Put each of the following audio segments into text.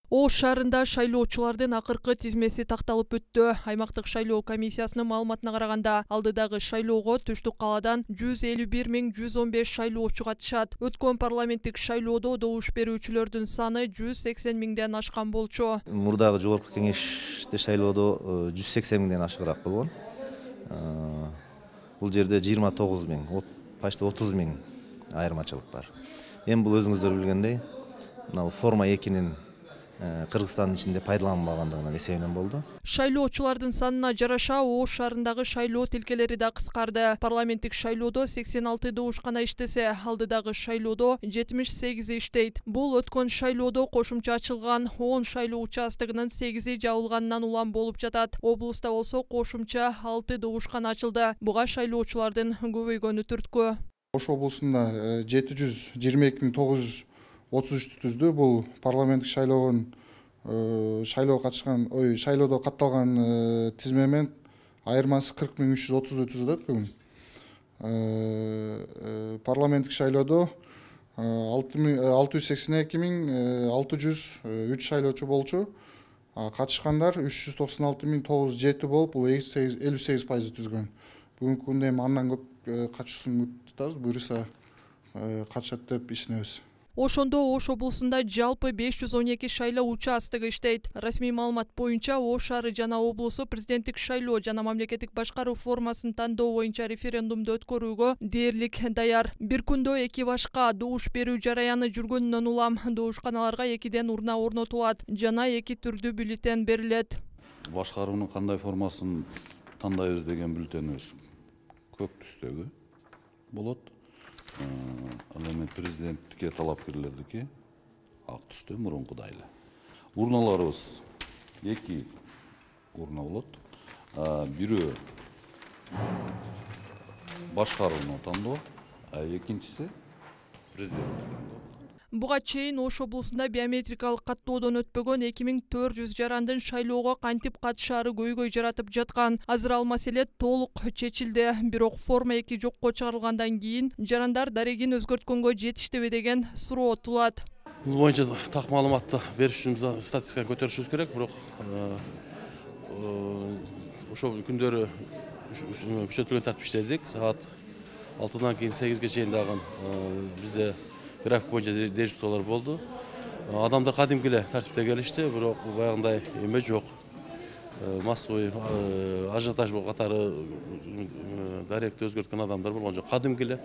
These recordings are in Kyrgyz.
Ош шаарында шайлоочулардын акыркы тизмеси такталып өттү. Аймактык шайлоо комиссиясынын маалыматына караганда, алдыдагы шайлоого Түштүк калаадан 151.115 шайлоочу катышат. Өткөн парламенттик шайлоодо добуш берүүчүлөрдүн саны 180 миңден ашкан болчу. Мурдагы жогорку кеңеште шайлоодо 180 миңден ашыгыраак болгон. Бул жерде 29 миң, почти 30 миң айырмачылык бар. Эми бул өзүңүздөр билгендей, мына форма 2-нин Кыргызстандын ичинде пайдаланбагандыгынан эсебинен болду. Шайлоочулардын санына жараша Ош шаарындагы шайлоо тилкелери да кыскарды. Парламенттик шайлоодо 86 добушкана иштесе, алдыдагы шайлоодо 78 иштейт. Бул өткөн шайлоодо кошумча ачылган 10 шайлоо участогунун 8 жабылганынан улам болуп жатат. Облуста болсо кошумча 6 добушкана ачылды. Буга шайлоочулардын көбөйгөнү түрткү. Ош облусунда 722.933 түздү. Бул парламенттик шайлоодо катталган тизме менен айырмасы 40.330 түзөт бүгүн. Парламенттик шайлоодо 682.603 шайлоочу болчу. Катышкандар 396.907 болуп, бул 58% түзгөн. Бүгүнкү күндө эми андан көп катышууну күтөбүз. Буюрса катышат деп ишенебиз. Ошондо Ош облусунда жалпы 512 шайлоо участогу иштейт. Расмий маалымат боюнча Ош шаары жана облусу президенттик шайлоо жана мамлекеттик башкаруу формасын тандоо боюнча референдумду өткөрүүгө дээрлик даяр. Бир күндө 2 башка добуш берүү жараяны жүргөнүнөн улам добушканаларга 2ден урна орнотулат жана 2 түрдүү бюллетень берилет. Башкаруунун кандай формасын тандайбыз деген бюллетенибиз көк түстөгү болот. Ал эми президенттикке талапкерлердики ак түстө мурункудай эле. Урналарыбыз 2 урна болот. Бирөө башкарууну тандоо, экинчиси президенттик тандоо. Буга чейин Ош облусунда биометрикалык каттоодон өтпөгөн 2400 жарандын шайлоого кантип катышаары көйгөй жаратып жаткан. Азыр ал маселе толук чечилди. Бирок форма 2 жокко чыгарылгандан кийин жарандар дарегин өзгөрткөнгө жетиштиби деген суроо туулат. Бул боюнча так маалыматты бериш үчүн статистиканы көтөрүшүбүз керек, бирок ошол күндөрү күчөтүлгөн тартип иштедик. Саат 6-дан кийин 8-ге чейин дагы бизде график боюнча дежурстволор болду. Адамдар кадимки эле тартипте келишти, бирок баягындай эме жок. Массовый ажиотаж катары даректи өзгөрткөн адамдар болгон жок. Кадимки эле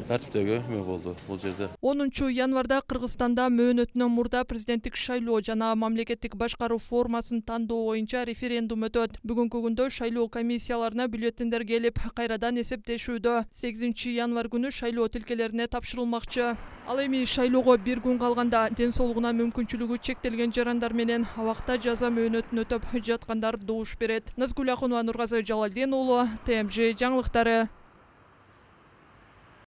тартиптеги эме болду бул жерде. 10-январда Кыргызстанда мөөнөтүнөн мурда президенттик шайлоо жана мамлекеттик башкаруу формасын тандоо боюнча референдум өтөт. Бүгүнкү күндө шайлоо комиссияларына бюллетендер келип, кайрадан эсептешүүдө. 8-январ күнү шайлоо тилкелерине тапшырылмакчы. Ал эми шайлоого бир күн калганда ден соолугуна мүмкүнчүлүгү чектелген жарандар менен абакта жаза мөөнөтүн өтөп жаткандар добуш берет. Назгүл Акунова, Нургазы Жалалдин уулу, ТМЖ жаңылыктары.